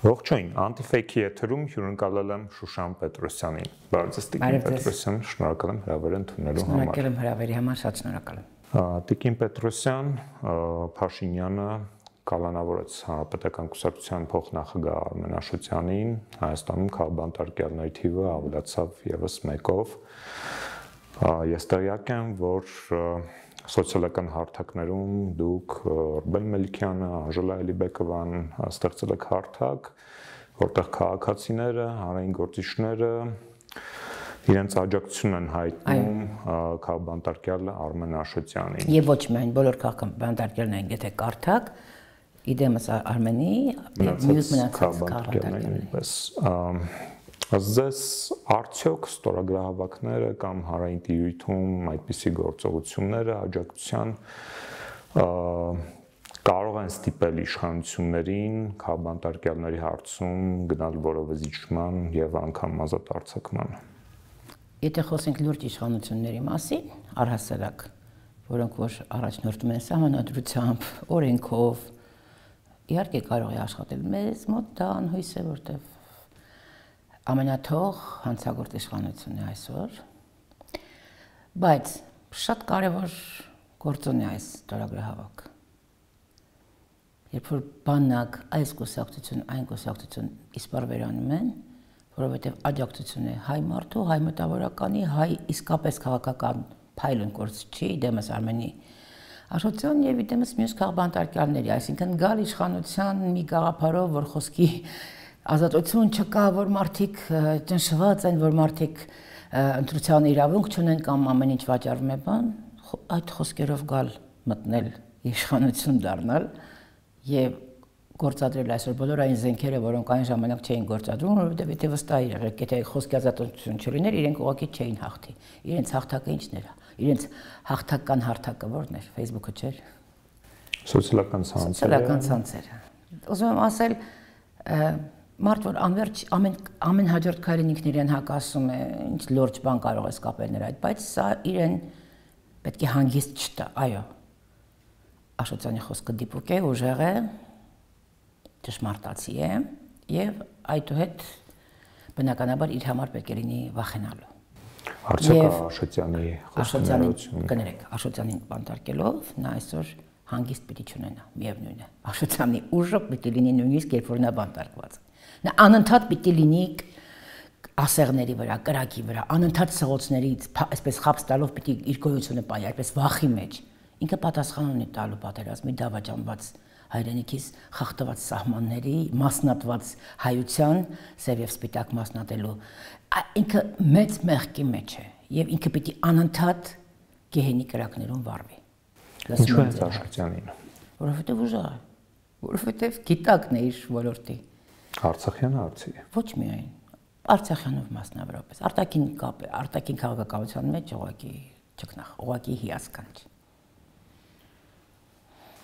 Ողջույն, Anti-Fake-ի եթերում հյուրընկալել եմ Շուշան Պետրոսյանին։ Բարև ձեզ, Տիկին Պետրոսյան, շնորհակալ եմ հրավեր ընդունելու համար։ Շնորհակալ եմ հրավերի համար, շատ շնորհակալ եմ։ Տիկին Պետրոսյան, Փաշինյանը կալանավորեց Հանրապետական կուսակցության փոխնախագահ Արմեն Աշոտյանին, Հայաստանում քաղբանտարկյալների թիվը ավելացավ եւս մեկով։ Ես տեղյակ եմ, որ սոցիալական հարթակներում դուք Ռուբեն Մելիքյանը, Անժելա Էլիբեկովան ստեղծել եք հարթակ, որտեղ քաղաքացիները, հանրային գործիչները իրենց աջակցություն են հայտնում քաղբանտարկյալ Արմեն Աշոտյանին։ Եվ ոչ միայն բոլոր քաղբանտարկյալներին, եթե կարդակ, իդեմս Արմենի, մյուս մնացած քաղբանտարկյալներին։ Ձեզ արդյոք ստորագրահավաքները կամ հանրային տիրույթում այդպիսի գործողությունները աջակցության կարող են ստիպել իշխանություններին քաղբանտարկյալների հարցում գնալ որևէ զիջման եւ անգամ ազատ արձակման։ Եթե խոսենք լուրջ իշխանությունների մասին, առհասարակ, որոնք որ առաջնորդում են սահմանադրությամբ, օրենքով, իհարկե կարող է աշխատել մեզ մոտ դա անհույս է, որտեղ ամենաթող հանցագործ իշխանությունն է այսօր, բայց շատ կարևոր գործոն է այս ստորագրահավաքը։ Երբ որ բանակ այս կուսակցություն, այն կուսակցություն իսպար վերանում են, որովհետև աջակցություն է հայ մարդու, հայ մտավորականի, հայ իսկապես քաղաքական փայլուն գործչի, դեմս Արմենի Աշոտյան եւ դեմս մյուս քաղբանտարկյալների, այսինքն գալ իշխանության մի գաղափարով, որ խոսքի ազատություն չկա, որ մարդիկ ճնշված են, որ մարդիկ ընտրության իրավունք չունեն կամ ամեն ինչ վաճառվում է բան, այդ խոսքերով գալ մտնել իշխանություն դառնալ եւ գործադրել այսօր բոլոր այն զենքերը, որոնք այն ժամանակ չէին գործադրում, որովհետեւ եթե վստահ եղեք, եթե խոսքի ազատություն չլիներ, իրենք ուղղակի չէին հաղթի։ Իրենց հաղթակը ի՞նչն էր։ Իրենց հաղթական հարթակը ո՞րն էր, Facebook-ը չէր։ Սոցիալական ցանցերը։ Սոցիալական ցանցերը։ Ուզում եմ ասել, մարդ որ անverջ ամեն հաջորդ քայլին ինքն իրեն հակասում է, ինչ լուրջ բան կարող է սկապել նրա այդ, բայց սա իրեն պետք է հանգիստ չտա, այո։ Աշոտյանի խոսքը դիպուկ է, ուժեղ է, ճշմարտացի է եւ այդուհետ բնականաբար իր համար պետք է լինի վախենալու։ Արդյոք Աշոտյանի խոսքերություն կներեք, Աշոտյանին բանտարկելով նա այսօր հանգիստ պիտի չունենա, միևնույն է։ Աշոտյանի ուժը պիտի լինի նույնիսկ երբ որ նա բանտարկված է։ Նա անընդհատ պիտի լինի ասեղների վրա, կրակի վրա, անընդհատ սղոցներից, այսպես խապս տալով պիտի իր գոյությունը պահի, այսպես վախի մեջ։ Ինքը պատասխան ունի տալու պատերազմի դավաճանված հայրենիքից խախտված սահմանների, մասնատված հայության, սև եւ սպիտակ մասնատելու։ Ինքը մեծ մեղքի մեջ է եւ ինքը պիտի անընդհատ գեհենի կրակներում վառվի։ Ինչու է Աշոտյանին։ Որովհետեւ ուժեղ է, որովհետեւ գիտակն է իր ոլորտի։ Արցախյանը արցի է։ Ոչ միայն Արցախյանով մասնավորապես, արտաքին կապ է, արտաքին քաղաքականության մեջ ուղղակի ճգնախ, ուղղակի հիասքանչ։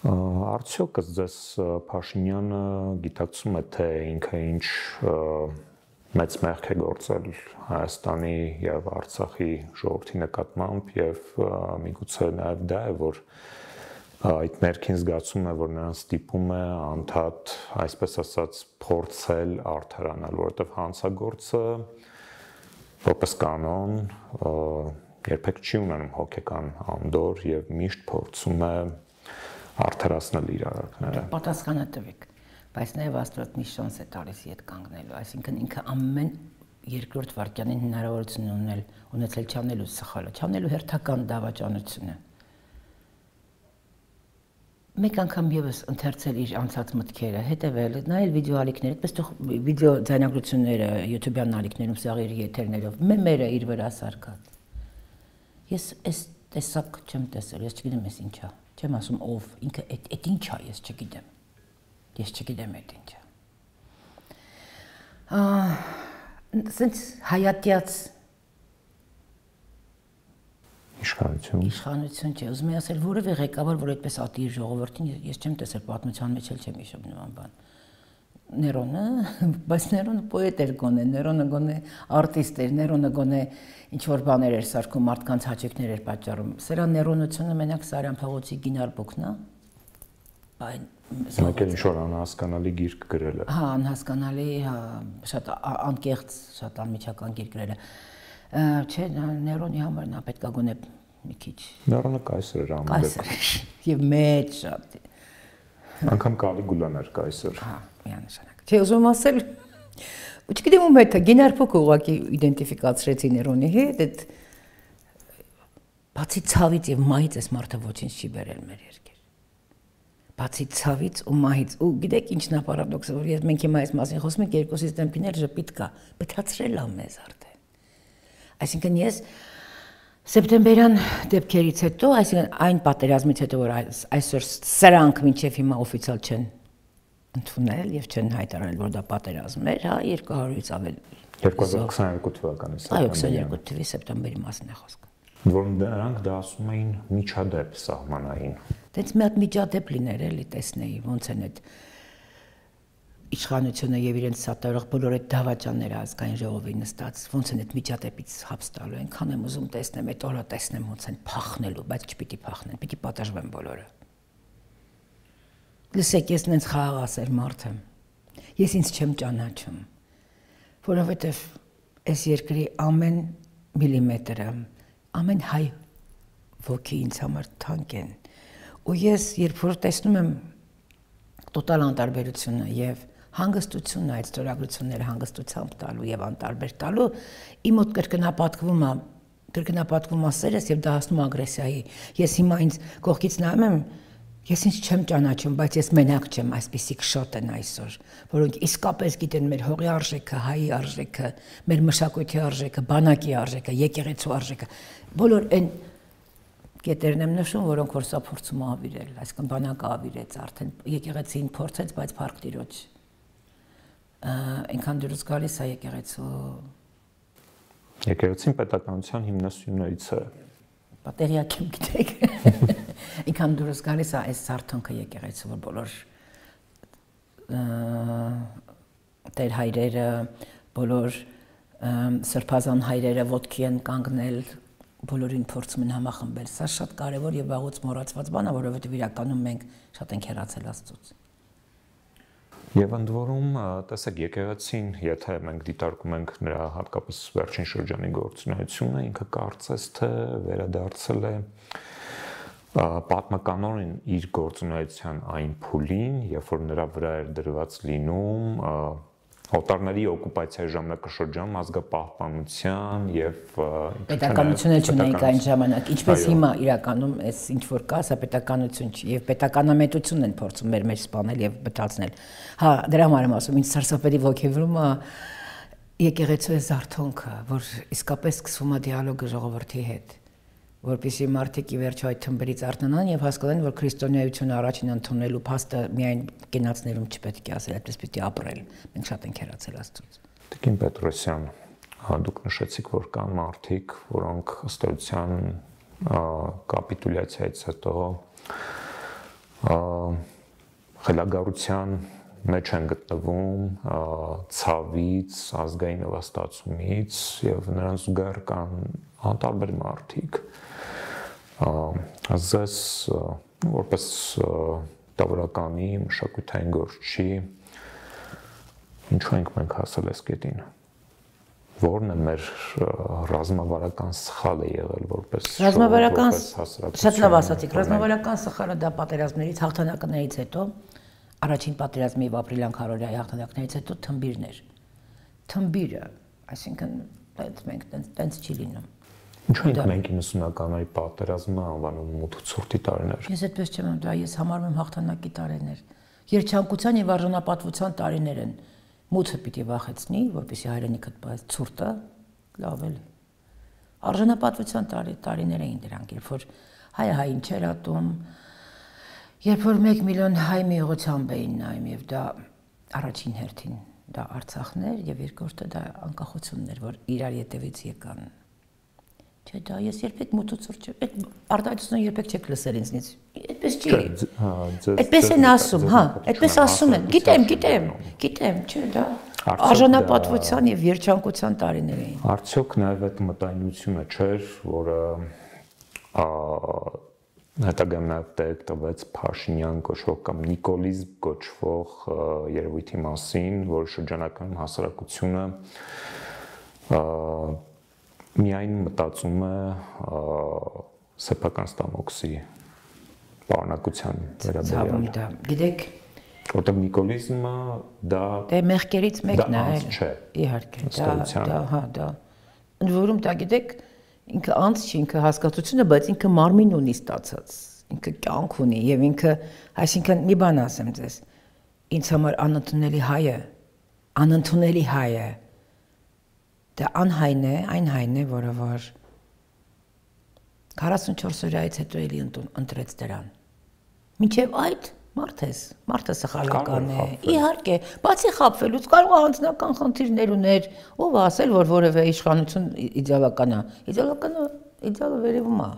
Արդյոք ձեզ Փաշինյանը գիտակցում է, թե ինքը ինչ մեծ մեղք է գործել Հայաստանի եւ Արցախի ժողովրդի նկատմամբ եւ միգուցե նաեւ դա է, որ այդ ներքին զգացում է, որ նրան ստիպում է անդադ, այսպես ասած, փորձել արդարանալ, որովհետեւ հանցագործը որպես կանոն երբեք չի ունենում հոգեկան անդոր եւ միշտ փորձում է արդարացնել իր արարքները։ Պատասխանը տվեք, բայց նաև Աստված մի շանս է տալիս իդ կանգնելու, այսինքն ինքը ամեն երկրորդ վայրկյանին հնարավորություն ունեցել չանելու սխալը, չանելու հերթական դավաճանությունը։ Մեկ անգամ եւս ընթերցել իր անցած մտքերը, հետեւել, նայել վիդեոալիքներ, այդպես թող վիդեո ձայնագրությունները YouTube-յան ալիքներում սաղերի եթերներով, մեմերը իր վրա սարքած։ Ես այս տեսակ չեմ տեսել, ես չգիտեմ ես ինչա։ Չեմ ասում ով, ինքը այդ ինչ է, ես չգիտեմ։ Ես չգիտեմ այդ ինչ է։ Սենց հայատյաց Իշխանություն չէ, ուզում եմ ասել, որևէ ղեկավար, որ այդպես ատի իր ժողովրդին, ես չեմ տեսել պատմության մեջ էլ չեմ հիշում նման բան։ Ներոնը, բայց Ներոնը պոետ էր գոնե, Ներոնը գոնե արտիստ էր, Ներոնը գոնե ինչ որ բաներ էր սարքում, մարդկանց հաճույքներ էր պատճառում։ Սրա Ներոնությունը մենակ Սարյան փողոցի գինար բուկն է, Մեկ էլ ինչ-որ անհասկանալի գիրք գրել է։ Հա, անհասկանալի, հա, շատ անկեղծ, շատ անմիջական գիրք գրել է։ Չէ, նեյրոնի համար նա պետք է գոնե մի քիչ։ Նեյրոնը կայսր էր ամեն դեպքում։ Եվ մեծ շատ։ Անկամ Կալիգուլան էր կայսր։ Հա, միանշանակ։ Չէ, ուզում ասել, չգիտեմ ում հետ է, Գինար փոքր ուղղակի իդենտիֆիկացրեցի նեյրոնի հետ, այդ բացի ցավից եւ մահից այս մարդը ոչինչ չի բերել մեր երկիր։ Բացի ցավից ու մահից, ու գիտեք ինչն է պարադոքսը, որ ես մենք հիմա այս մասին խոսում ենք, երկուսից դեմքիներ ժպիտ կա, բթացրել է մեզ արդեն։ Այսինքն ես սեպտեմբերյան դեպքերից հետո, այսինքն այն պատերազմից հետո, որ այսօր սրանք մինչև հիմա օֆիցիալ չեն ընդունել եւ չեն հայտարարել, որ դա պատերազմ էր, հա, 200-ից ավել 2022 թվականի սեպտեմբերի։ Այո, 22 թվականի սեպտեմբերի մասն է խոսքը։ Որոնք դրանք դա ասում էին միջադեպ սահմանային։ Դենց մի հատ միջադեպ լիներ էլի տեսնեի, ոնց են այդ իշխանությունը եւ իրենց սատարող բոլոր այդ դավաճանները ազգային ժողովի նստած, ոնց են այդ միջադեպից հապս տալու, այնքան եմ ուզում տեսնեմ, այդ օրը տեսնեմ ոնց են փախնելու, բայց չպիտի փախնեն, պիտի պատժվեն բոլորը։ Լսեք, ես նենց խաղաղասեր մարդ եմ։ Ես ինձ չեմ ճանաչում, որովհետեւ այս երկրի ամեն միլիմետրը, ամեն հայ ոգի ինձ համար թանկ են։ Ու ես երբ որ տեսնում եմ տոտալ անտարբերությունը եւ հանգստությունը, այդ ստորագրությունները հանգստությամբ տալու եւ անտարբեր տալու, իմ մոտ կրկնապատկվում է սերս եւ դա հասնում ագրեսիայի։ Ես հիմա ինձ կողքից նայում եմ, ես ինձ չեմ ճանաչում, բայց ես մենակ չեմ, այսպիսիք շատ են այսօր, որոնք իսկապես գիտեն մեր հողի արժեքը, հայի արժեքը, մեր մշակույթի արժեքը, բանակի արժեքը, եկեղեցու արժեքը, բոլոր այն կետերն եմ նշում, որոնք որ սա փորձում ավիրել, այսինքն բանակը ավիրեց արդեն, եկեղեցին փորձեց, բայց փառք Տիրոջ։ Այնքան դուրս գալիս է եկեղեցու։ Եկեղեցին պետականության հիմնասյուներից է։ Պատերիակ եմ գիտեք։ Այնքան դուրս գալիս է այս զարթոնքը եկեղեցու, որ բոլոր տեր հայրերը, բոլոր սրբազան հայրերը ոտքի են կանգնել, բոլորին փորձում են համախմբել։ Սա շատ կարևոր եւ վաղուց մոռացված բան է, որովհետեւ իրականում մենք շատ ենք հեռացել Աստծուց։ Եվ ընդ որում, տեսեք, եկեղեցին, եթե մենք դիտարկում ենք նրա հատկապես վերջին շրջանի գործունեությունը, ինքը կարծես թե վերադարձել է պատմականորեն իր գործունեության այն փուլին, երբ որ նրա վրա էր դրված լինում օտարների օկուպացիայի ժամանակաշրջանում ազգապահպանության եւ պետականությունը չունեինք այն ժամանակ, ինչպես հիմա իրականում այս ինչ որ կա, սա պետականություն չի եւ պետականամետությունն են փորձում մեր մեջ սպանել եւ բթացնել։ Հա, դրա համար եմ ասում, ինձ սարսափելի ոգևորում է եկեղեցու զարթոնքը, որ իսկապես սկսվում է դիալոգը ժողովրդի հետ, որպեսզի մարդիկ ի վերջո այդ թմբերից արթնանան եւ հասկանան, որ քրիստոնեությունը առաջին ընդունելու փաստը միայն կենացներում չպետք է ասել, այդպես պիտի ապրել։ Մենք շատ ենք հեռացել Աստծուց։ Տիկին Պետրոսյան, դուք նշեցիք, որ կան մարդիկ, որոնք ըստ էության կապիտուլյացիայից հետո խելագարության մեջ են գտնվում, ցավից, ազգային նվաստացումից եւ նրանց զուգահեռ կան անտարբեր մարդիկ։ Ձեզ որպես տավորականի մշակութային գործչի ինչու ենք մենք հասել այս կետին։ Որն է մեր ռազմավարական սխալը եղել որպես շատ լավ ասացիք, ռազմավարական սխալը դա պատերազմներից հաղթանակներից հետո առաջին պատերազմի եւ ապրիլյան քարորիայի հաղթանակներից հետո թմբիրն էր։ Թմբիրը, այսինքն մենք տենց չի լինում։ Ինչու ենք մենք 90-ականների պատերազմը անվանում մութուցորտի տարիներ։ Ես այդպես չեմ, դա ես համարում եմ հաղթանակի տարիներ։ Երջանկության եւ արժանապատվության տարիներ են։ Մութը պիտի վախեցնի, որպեսզի հայրենիքդ բայց ցուրտը լավ էլի։ Արժանապատվության տարիներ էին դրանք, երբ որ հայը հային չէր ատում, երբ որ 1 միլիոն հայ մի ուղղությամբ էին նայում եւ դա առաջին հերթին դա Արցախն էր եւ երկրորդը դա անկախությունն էր, որ իրար ետևից եկան։ Չէ, դա ես երբեք մութուցուրջ չեմ, այդ արտահայտությունը երբեք չեք լսել ինձնից։ Այդպես չի։ Այդպես են ասում, հա, այդպես ասում են։ Գիտեմ, չէ, դա արժանապատվության եւ երջանկության տարիներ էին։ Արդյոք նաեւ այդ մտայնությունը չէր, որը հետագայում նաև տեղ տվեց Փաշինյան կոչվող կամ Նիկոլիզմ կոչվող երևույթի մասին, որ շրջանական հասարակությունը միայն մտածում է սեփական ստամոքսի պարունակության վերաբերյալ։ Գիտեք, որտեղ նիկոլիզմը դա մեղքերից մեկն է, իհարկե, դա ընդ որում դա գիտեք, ինքը անց չի, ինքը հասկացությունը, բայց ինքը մարմին ունի ստացած, ինքը կյանք ունի եւ ինքը, այսինքն մի բան ասեմ ձեզ, ինձ համար անընդունելի հայը, դա անհայն է, այն հայն է, որը որ 44 օրից հետո էլի ընտրեց դրան։ Մինչև այդ մարդը սխալական է, իհարկե, բացի խաբվելուց կարող է անձնական խնդիրներ ուներ, ով ասել, որ որևէ իշխանություն իդեալական է, իդեալը վերևում է,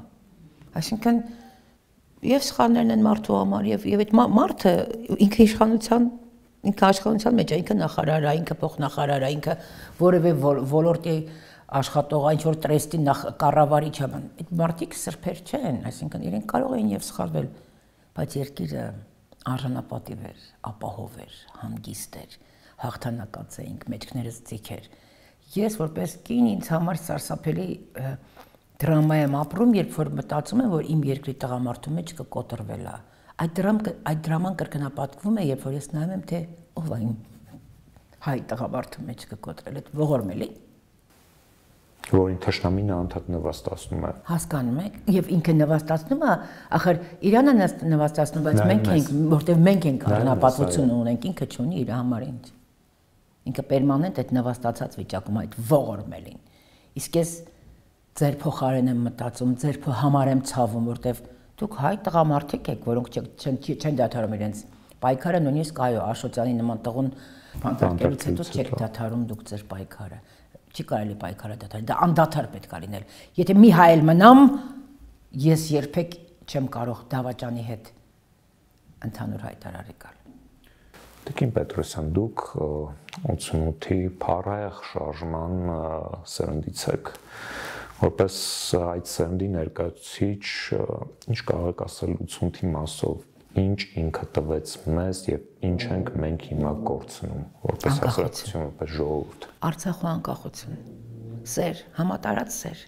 այսինքն և սխալներն են մարդու համար, և այդ մարդը ինքը իշխանության մեջ է, ինքը նախարար է, ինքը փոխնախարար է, ինքը որևէ ոլորտի աշխատող, ինչ-որ տրեստի կառավարիչ է, այդ մարդիկ սրբեր չեն, այսինքն իրենք կարող էին և սխալվել, բայց երկիրը արժանապատիվ էր, ապահով էր, հանգիստ էր, հաղթանակած էինք, մեջքներս ձիգ էր։ Ես որպես կին ինձ համար սարսափելի դրամա եմ ապրում, երբ որ մտածում եմ, որ իմ երկրի տղամարդու մեջ կկոտրվել է։ Այդ դրաման կրկնապատկվում է, երբ որ ես նայում եմ, թե ով է իմ հայ տղամարդու մեջ կկոտրել, այդ ողորմելի։ Որին թշնամին անդադ նվաստացնում է։ Հասկանում եք, եւ ինքը նվաստացնում է, ախր իրանը նվաստացնում, բայց մենք ենք, որտեվ մենք ենք արժանապատվություն ունենք, ինքը չունի իր համար ինչ։ Ինքը պերմանենտ այդ նվաստացած վիճակում այդ ողորմելին։ Իսկ ես ձեր փոխարեն եմ մտածում, ձեր համար եմ ցավում, որտեվ դուք հայ տղամարդիկ եք, որոնք չեն դադարում իրենց պայքարը, նույնիսկ այո, Աշոտյանի նման տղուն բանտարկելուց հետո չեք դադարում դուք ձեր պայքարը։ Չի կարելի պայքարը դադարել, դա անդադար պետք է լինել։ Եթե մի հայ էլ մնամ, ես երբեք չեմ կարող դավաճանի հետ ընդհանուր հայտարարի գալ։ Տիկին Պետրոսյան, դուք 88-ի փառահեղ շարժման սերնդից եք, որպես այդ սերնդի ներկայացուցիչ, ինչ կարող եք ասել 88-ի մասով, ինչ ինքը տվեց մեզ եւ ինչ ենք մենք հիմա կորցնում որպես հասարակություն, որպես ժողովուրդ։ Արցախու անկախություն, սեր, համատարած սեր։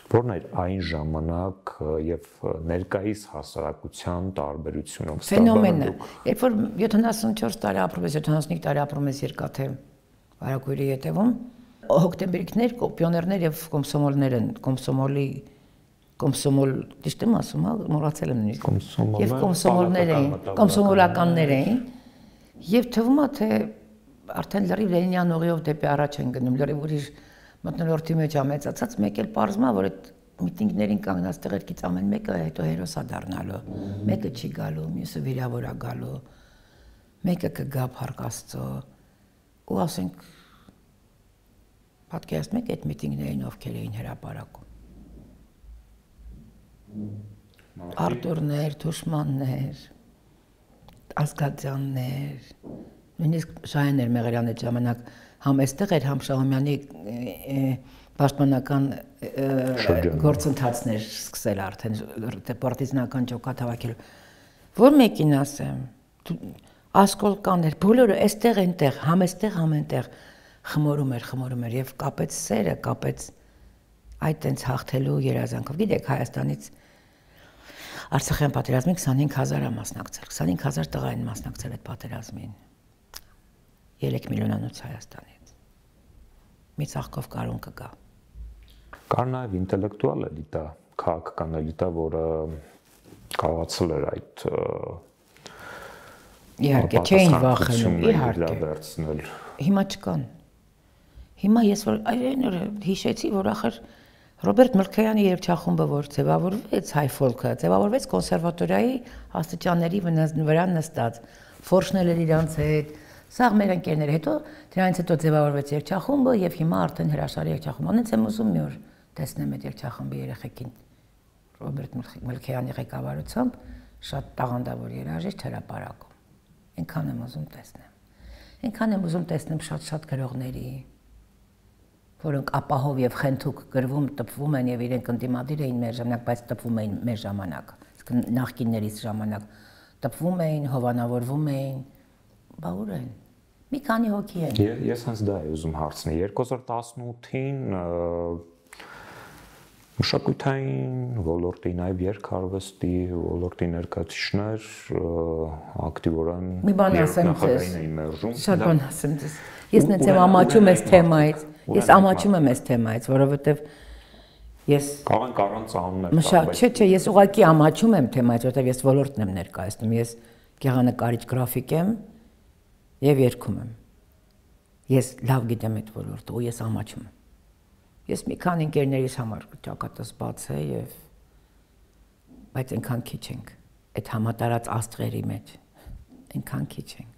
Որն էր այն ժամանակ եւ ներկայիս հասարակության տարբերությունը։ Ֆենոմենը, երբ որ 74 տարի ապրում ես, 75 տարի ապրում ես Երկաթե Վարագույրի ետևում, հոկտեմբերիկներ, պիոներներ եւ կոմսոմոլներ են, կոմսոմոլ, ճիշտ եմ ասում, մոռացել եմ նույնիսկ։ Եվ կոմսոմոլներ էին, կոմսոմոլականներ էին, եւ թվում է թե արդեն լրիվ Լենինյան ուղիով դեպի առաջ են գնում, լրիվ ուրիշ մթնոլորտի մեջ է մեծացած, մեկ էլ պարզվում է, որ այդ միտինգներին կանգնած տեղերից ամեն մեկը հետո հերոս է դառնալու, մեկը չի գալու, մյուսը վիրավոր է գալու, մեկը կգա Փառք Աստծո, ու ասենք պատկերացնեք այդ միտինգներին ովքեր էին հրապարակում։ Արտուրներ, Թուշմաններ, Ասգատյաններ, նույնիսկ Շահյաններ Մեղրյանը ժամանակ համ այստեղ էր, համ Շահումյանի պաշտպանական գործընթացներ սկսել արդեն պարտիզանական ջոկատ հավաքելու։ Որ մեկին ասեմ, ասկոլկաներ, բոլորը այստեղ այնտեղ, համ այստեղ, համ այնտեղ խմորում էր եւ կապեց սերը, կապեց այդ տենց հաղթելու երազանքով։ Գիտեք, Հայաստանից Արցախյան պատերազմին 25000 է մասնակցել, 25000 տղա են մասնակցել այդ պատերազմին։ 3 միլիոնանոց Հայաստանից։ Մի ծաղկով կարուն կգա։ Կար նաև ինտելեկտուալ էլիտա, քաղաքական էլիտա, որը կարողացել էր այդ իհարկե չէին վախենում, իհարկե։ Հիմա չկան։ Հիմա ես որ այն օրը հիշեցի, որ ախր Ռոբերտ Մլքեյանի երգչախումբը, որ ձևավորվեց հայ ֆոլքը, ձևավորվեց կոնսերվատորիայի աստիճանների վրա նստած, ֆորշնել էր իրանց հետ, սաղ մեր ընկերներ, հետո դրանից հետո ձևավորվեց երգչախումբը եւ հիմա արդեն հրաշալի երգչախումբ։ Անից եմ ուզում մի օր տեսնեմ այդ երգչախմբի երեխեքին Ռոբերտ Մլքեյանի ղեկավարությամբ շատ տաղանդավոր երաժիշտ հրապարակում։ Այնքան եմ ուզում տեսնեմ։ Այնքան եմ ուզում տեսնեմ շատ-շատ գրողների, որոնք ապահով եւ խենթուկ գրվում, տպվում են եւ իրենք ընդդիմադիր էին մեր ժամանակ, բայց տպվում էին մեր ժամանակ, նախկիններից ժամանակ, տպվում էին, հովանավորվում էին, բա ուր են։ Մի քանի հոգի են։ Ես հենց դա եմ ուզում հարցնել 2018-ին մշակութային ոլորտի, նաև երգարվեստի ոլորտի ներկայացուցիչներ ակտիվորեն նախագահային էին մերժում։ Շատ բան ասեմ ձեզ։ Ես նենց եմ ամաչում այս թեմայից։ Ես ամաչում եմ այս թեմայից, որովհետև ես կարող առանց անուններ։ Չէ, ես ուղղակի ամաչում եմ թեմայից, որովհետև ես ոլորտն եմ ներկայացնում։ Ես գեղանկարիչ գրաֆիկ եմ եւ երգում եմ։ Ես լավ գիտեմ այդ ոլորտը ու ես ամաչում եմ։ Ես մի քանի ընկերներիս համար ճակատս բաց է եւ բայց այնքան քիչ ենք այդ համատարած աստղերի մեջ այնքան քիչ ենք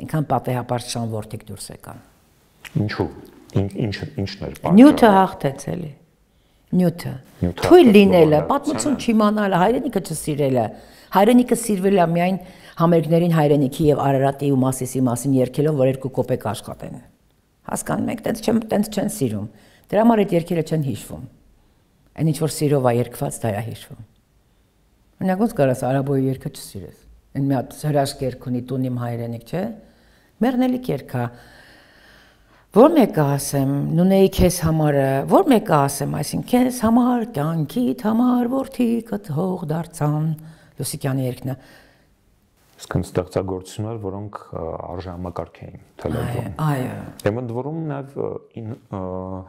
այնքան պատեհապար շան ворտիկ դուրս եկան ինչու ինչն էր պատճառը նյութը հաղթեց էլի նյութը թույլ լինելը պատմություն չիմանալը հայրենիքը չսիրելը հայրենիքը սիրվել է միայն համերգներին հայրենիքի եւ Արարատի ու Մասիսի մասին երգելով որ 2 կոպեկ աշխատեն հասկանում եք տենց չեն սիրում դրա համար այդ երգերը չեն հիշվում այն ինչ որ սիրով է երգված դա է հիշվում օրինակ ոնց կարաս արաբոյի երգը չսիրես այն մի հատ հրաշք երգ ունի տուն իմ հայրենիք չէ մեռնելիք երգ է որ մեկը ասեմ նունեի քեզ համարը որ մեկը ասեմ այսինքն քեզ համար կյանքիդ համար որդիքդ հող դարձան Լուսիկյանի երգն է Իսկն ստեղծագործություններ, որոնք արժանամակարգ էին թելադրում։ Այո։ Եմ ընդ որում նաև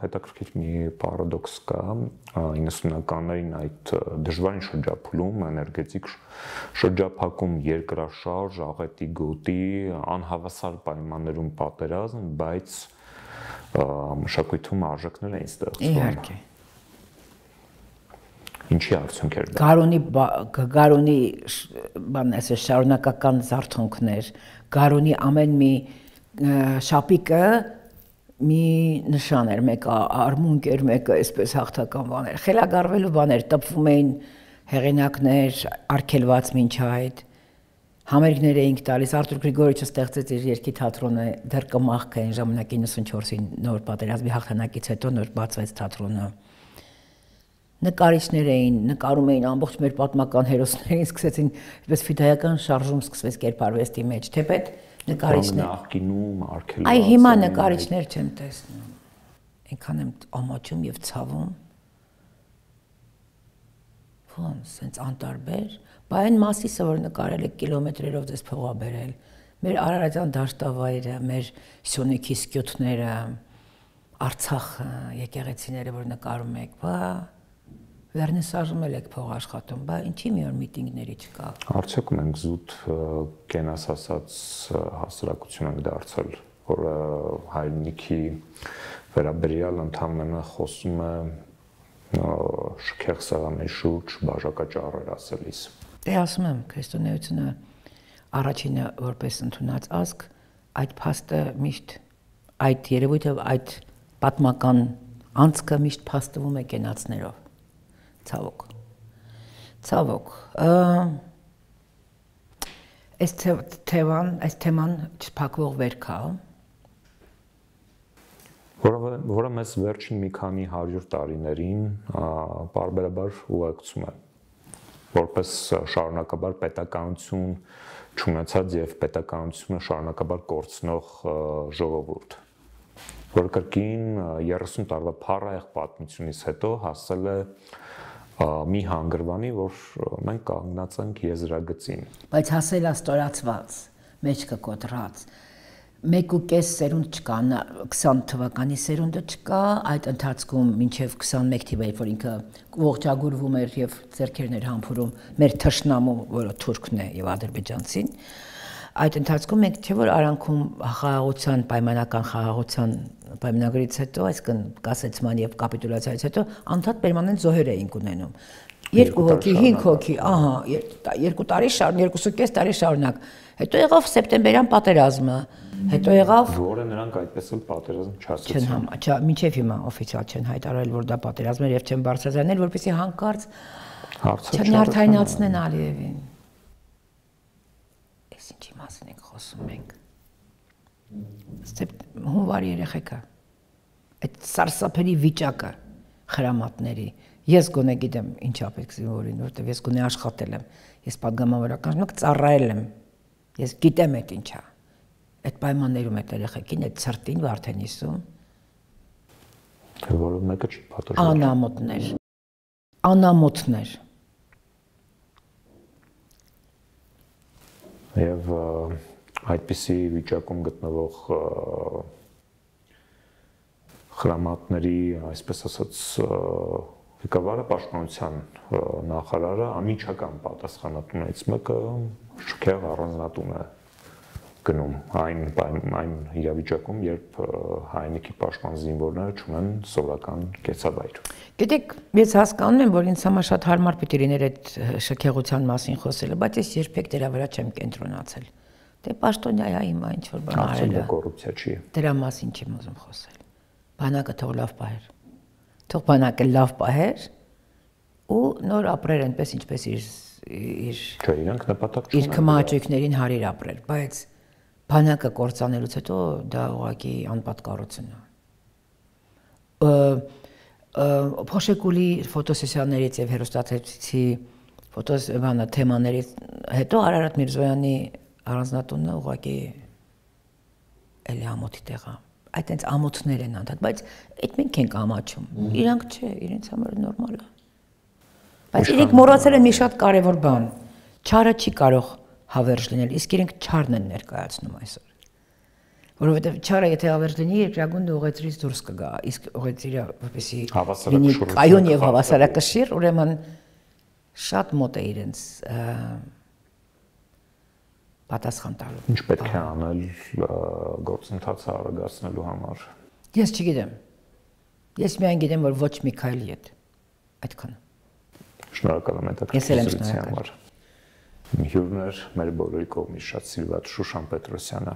հետաքրքիր մի պարադոքս կա 90-ականներին այդ դժվարին շրջափուլում, էներգետիկ շրջափակում, երկրաշարժ, աղետի գոտի, անհավասար պայմաններում պատերազմ, բայց մշակույթում արժեքներ էին ստեղծվում։ Իհարկե։ Ինչի արդյունք էր դա։ Գարունի բան ասես շարունակական զարթոնքներ, գարունի ամեն մի շապիկը մի նշան էր, մեկը արմունկ էր, մեկը այսպես հաղթական բաներ, խելագարվելու բաներ, տպվում էին հեղինակներ, արգելված մինչ այդ համերգներ էինք տալիս, Արտուր Գրիգորիչը ստեղծեց իր երգի թատրոնը, դեռ կմախք այն ժամանակ 94-ի նոր պատերազմի հաղթանակից հետո նոր բացվեց թատրոնը։ Նկարիչներ էին, նկարում էին ամբողջ մեր պատմական հերոսներին, սկսեցին այսպես ֆիդայական շարժում սկսվեց կերպարվեստի մեջ, թեպետ նկարիչներ նախկինում արգելված։ Այ հիմա նկարիչներ չեմ տեսնում։ Այնքան եմ ամաչում եւ ցավում։ Ոնց, սենց անտարբեր, բա այն Մասիսը, որ նկարել եք կիլոմետրերով ձեզ փողա բերել, մեր Արարատյան դաշտավայրը, մեր Սյունիքի սկյութները, Արցախը, եկեղեցիները, որ նկարում եք, բա վերնիսաժում եք փող աշխատում, բա ինչի մի օր միտինգների չկա։ Արդյոք մենք զուտ կենաս ասած հասարակություն ենք դարձել, որ հայրենիքի վերաբերյալ ընդհանրապես խոսում է շքեղ սեղանի շուրջ բաժակաճառեր ասելիս։ Դե ասում եմ, քրիստոնեությունը առաջինը որպես ընդունած ազգ, այդ փաստը միշտ այդ երևույթը, այդ պատմական անցքը միշտ փաստվում է կենացներով։ Ցավոք։ Այս թեման չփակվող վերք է, որը մեզ վերջին մի քանի 100 տարիներին պարբերաբար ուղեկցում է, որպես շարունակաբար պետականություն չունեցած եւ պետականությունը շարունակաբար կորցնող ժողովուրդ, որ կրկին 30 տարվա փառահեղ պատմությունից հետո հասել է մի հանգրվանի, որ մենք կանգնած ենք եզրագծին։ Բայց հասել է ստորացված, մեջքը կոտրած։ 1.5 սերունդ չկա, 20 թվականի սերունդը չկա, այդ ընթացքում մինչև 21 թիվը, որ ինքը ողջագուրվում էր եւ ձեռքերն էր համբուրում մեր թշնամու, որը թուրքն է եւ ադրբեջանցին, այդ ընթացքում մենք չէ որ արանքում խաղաղության պայմանական խաղաղության պայմանագրից հետո, այսինքն կասեցման եւ կապիտուլյացիայից հետո անդադ պերմանենտ զոհեր էինք ունենում։ 2 հոգի, 5 հոգի, ահա, 2 տարի շարունակ, 2.5 տարի շարունակ։ Հետո եղավ սեպտեմբերյան պատերազմը, հետո եղավ որը նրանք այդպես էլ պատերազմ չասեցին։ Մինչև հիմա օֆիցիալ չեն հայտարարել, որ դա պատերազմ էր եւ չեն բարձրացնել, որպեսզի հանկարծ չնյարդայնացնեն Ալիևին։ Այս ինչի մասին ենք խոսում մենք։ Հունվարի երեխեքա։ Այդ սարսափելի վիճակը խրամատների։ Ես գոնե գիտեմ ինչա պետք զինվորին, որովհետև ես գոնե աշխատել եմ։ Ես падգամավորական ժամանակ ծառայել եմ։ Ես գիտեմ այդ ինչա։ Այդ պայմաններում այդ երեխեքին այդ ցրտին Վարդենիսում որը մեկը չի պատժում։ Անամոթներ։ Եվ այդպիսի վիճակում գտնվող խրամատների, այսպես ասած, ղեկավարը պաշտպանության նախարարը անմիջական պատասխանատուներից մեկը շքեղ առանձնատուն է գնում այն իրավիճակում, երբ հայնիկի պաշտպան զինվորները չունեն սովորական կեցավայր։ Գիտեք, ես հասկանում եմ, որ ինձ համար շատ հարմար պիտի լիներ այդ շքեղության մասին խոսելը, բայց ես երբեք դրա վրա չեմ կենտրոնացել։ Դե պաշտոնյա հիմա ինչ որ բան արել է։ Կոռուպցիա չի։ Դրա մասին չեմ ուզում խոսել։ Բանակը թող լավ պահեր։ Թող բանակը լավ պահեր ու նոր ապրեր այնպես ինչպես իր Չէ, իրանք նպատակ չունեն։ Իր քմահաճույքներին հարիր ապրել, բայց բանակը կործանելուց հետո դա ուղղակի անպատկառություն է։ Փոշեկուլի ֆոտոսեսիաներից եւ հերոստատեցի թեմաներից հետո Արարատ Միրզոյանի առանձնատունը ուղղակի էլի ամոթի տեղ է։ Այդ այնց ամոթներ են անդադ, բայց այդ մենք ենք ամաչում։ Իրանք չէ, իրենց համար նորմալ է։ Բայց իրենք մոռացել են մի շատ կարևոր բան։ Չարը չի կարող հավերժ լինել, իսկ իրենք չարն են ներկայացնում այսօր։ Որովհետև չարը եթե հավերժ լինի, երկրագունդը ուղեցրից դուրս կգա, իսկ ուղեցիրը որպեսի լինի կայուն եւ հավասարակշիռ, ուրեմն շատ մոտ է իրենց պատասխան տալու։ Ինչ պետք է անել գործընթացը արագացնելու համար։ Ես չգիտեմ։ Ես միայն գիտեմ, որ ոչ մի քայլի հետ։ Այդքան։ Շնորհակալ եմ հետաքրքրության համար։ Հյուրներ մեր բոլորի կողմից շատ սիրված Շուշան Պետրոսյանը։